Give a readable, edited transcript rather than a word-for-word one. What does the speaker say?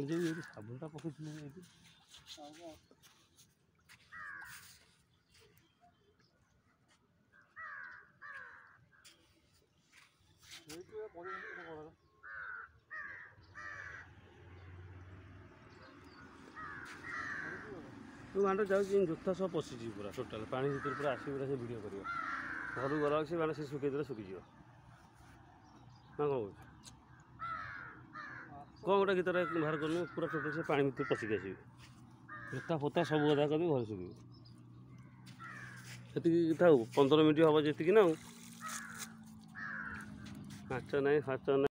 ଯୋଉ ଏଇଠି ସାବୁନଟା ପକେଇଥିଲି ଏଇଠି। ତୁ ମାଣ୍ଡ ଯାଉଛି, ଜୋତା ସହ ପଶିଯିବି ପୁରା ଟୋଟାଲ୍ ପାଣି ଭିତରେ, ପୁରା ଆସିବି, ପୁରା ସେ ଭିଡ଼ିଓ କରିବ। ଘରକୁ ଗଲାବେଳକୁ ସେ ମାନେ ସେ ଶୁଖେଇଦେଲେ ଶୁଖିଯିବ ନା କ'ଣ କହୁଛୁ? କ'ଣ ଗୋଟେ ଗୀତଟା ବାହାର କରୁନୁ। ପୁରା ଟୋଟାଲ୍ ସେ ପାଣି ଭିତରେ ପଶିକି ଆସିବି, ଜୋତା ଫୋତା ସବୁ ଓଦା କରିବି, ଘରେ ଶୁଖିବ। ସେତିକି ଥାଉ, 15 ମିନିଟ୍ ହେବ ଯେତିକି ନା। ଆଉ ନାଚ ନାହିଁ, ଫାଚ ନାହିଁ।